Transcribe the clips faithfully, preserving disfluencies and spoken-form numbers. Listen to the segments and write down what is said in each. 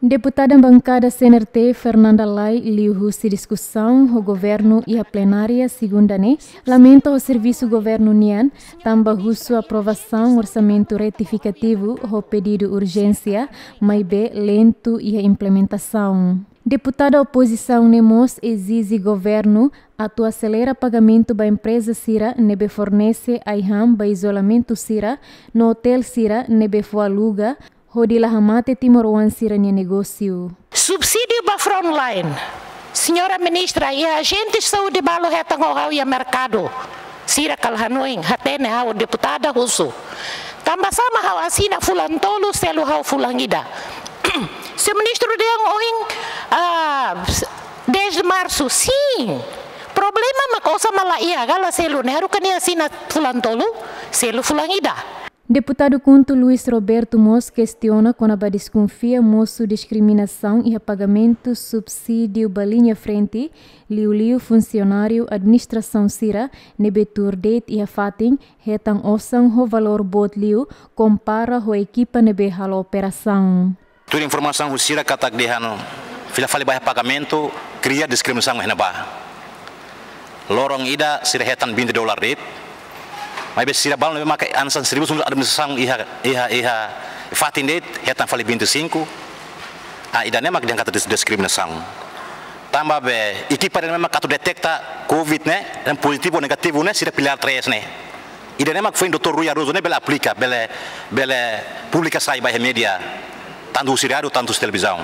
Deputada bankada C N R T, Fernanda Lay, liuhusi diskusaun ho governu iha plenária segunda ne'e, lamenta ho servisu governu nian, tanba husu aprovasaun orsamentu retifikativu ho pedidu urjénsia, maibé lentu iha implementasaun. Deputada opozisaun ne'e mós ezije governu atu aselera pagamentu ba empreza sira ne'ebé fornese ai-han ba izolamentu sira no otél sira ne'ebé fó aluga, hodi la hamate timoroan sira-nia negósiu. Subsídiu ba frontline. Señora Ministra, iha ajente saúde balu hetan ho ha'u iha merkadu. Sira kala hanoin, hatene ha'u deputada husu. Tanba sá mak ha'u asina fulan tolu, selu ha'u fulan ida. Señór Ministru dehan ohin, ah, dez de março, sin. Problema mak osan mak la iha, ka la selu, ne'e haruka nia asina fulan tolu, selu fulan ida. Deputadu KHUNTO Luis Roberto mós kestiona kona-ba deskonfia mosu diskriminasaun iha pagamentu subsídiu ba liña frente, liuliu funsionáriu administrasaun sira ne'ebé tuur de'it iha fatin, hetan osan ho valór boot liu kompara ho ekipa ne'ebé halo operasaun. Tuir informasaun husi sira katak dehan fila fali ba iha pagamentu kria diskriminasaun iha ne'ebá. Loron ida sira hetan vinte dólar de'it. Maibé sira balu ne'ebé maka hanesan servisu administrasaun iha, iha, iha fatin de'it hetan fali vinte e cinco. Ah, ida-ne'e mak dehan katak dis-, diskriminasaun. Tanba be ekipa ida-ne'e mak atu deteta covid ne'e, dan pozitivu ou negativu ne'e, sira pilár tres ne'e. Ida-ne'e mak foin doutór Rui Arruzo ne'e bele aplika, bele, bele publika sai ba iha média, tantu husi rádiu, tantu husi televizaun.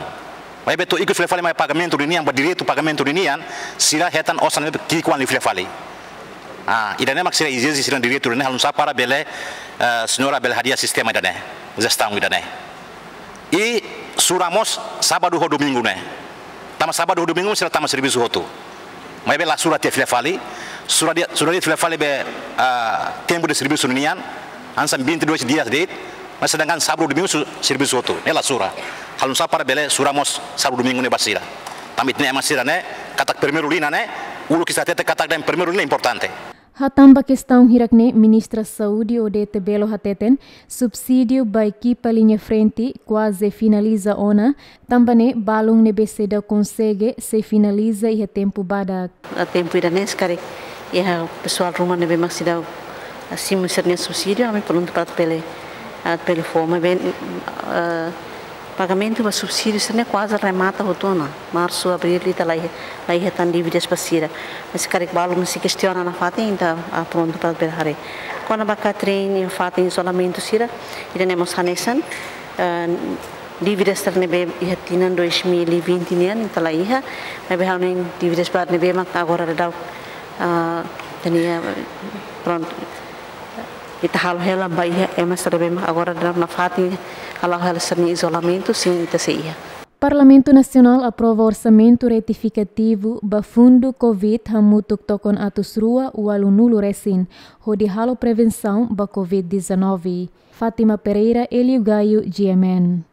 Maibé to'o ikus fila fali mai pagamentu ninian, ba direitu pagamentu ninian, sira hetan osan ne'ebé ki'ik-oan liu fila fali. Ah, ida-ne'e mak sira ezije sira-nia direitu ne'e halo nusá para bele, eh, señora bele hadi'a sistema ida-ne'e, jestaun ida-ne'e. I sura mós sábadu ho domingu ne'e. Tanba sábadu ho domingu sira tama servisu hotu. Maibé la sura tiha fila fali, sura de'it, sura de'it fila fali be, ah, tempu de servisu ninian, hanesan vinte e dois dias de'it, mas sedangkan sábadu domingu su-, servisu hotu, ne'e la sura. Halo nusá para bele sura mós sábadu domingu ne'e ba sira. Tanba ita-nia ema sira ne'e, katak primeiru liña ne'e, uluk ita hatete katak dehan primeiru liña importante. Hatán ba kestaun hirak-ne'e, Ministra Saúde Odete Bello hateten, subsídiu ba ekipa liña frente kuaze finaliza ona, tanba ne'e balun ne'ebé seidauk konsege sei finaliza iha tempu badak. Ah, tempu ida-ne'e se karik iha pesoál ruma ne'ebé mak seidauk, ah, simu sira-nia subsídiu, ami prontu para bele, ah, bele fó, maibé, ah, pagamentu ba subsídiu sira-ne'e kuaze remata hotu ona. Marsu, abril, ita la iha, la iha tan dívidas ba sira. Mas se karik balun sei kestiona nafatin, ita, ah, prontu para bele haree. Kona-ba Catherine, iha fatin izolamentu sira, ida-ne'e mós hanesan, eh, dívidas sira ne'ebé iha tinan dois mil e vinte nian, ita la iha, maibé ha'u hanoin dívidas barak ne'ebé mak agora daudaun, ah, tenia, prontu, ita halo hela ba iha ema sira ne'ebé mak agora daudaun nafatin hala'o hela sira-nia izolamentu, sin, ita sei iha. Parlamentu Nasionál aprova orsamentu retifikativu ba fundu covid hamutuk tokon atus rua ualunulu resin, hodi halo prevensaun ba covid dezanove. Fátima Pereira, Hélio Gaio, G M N.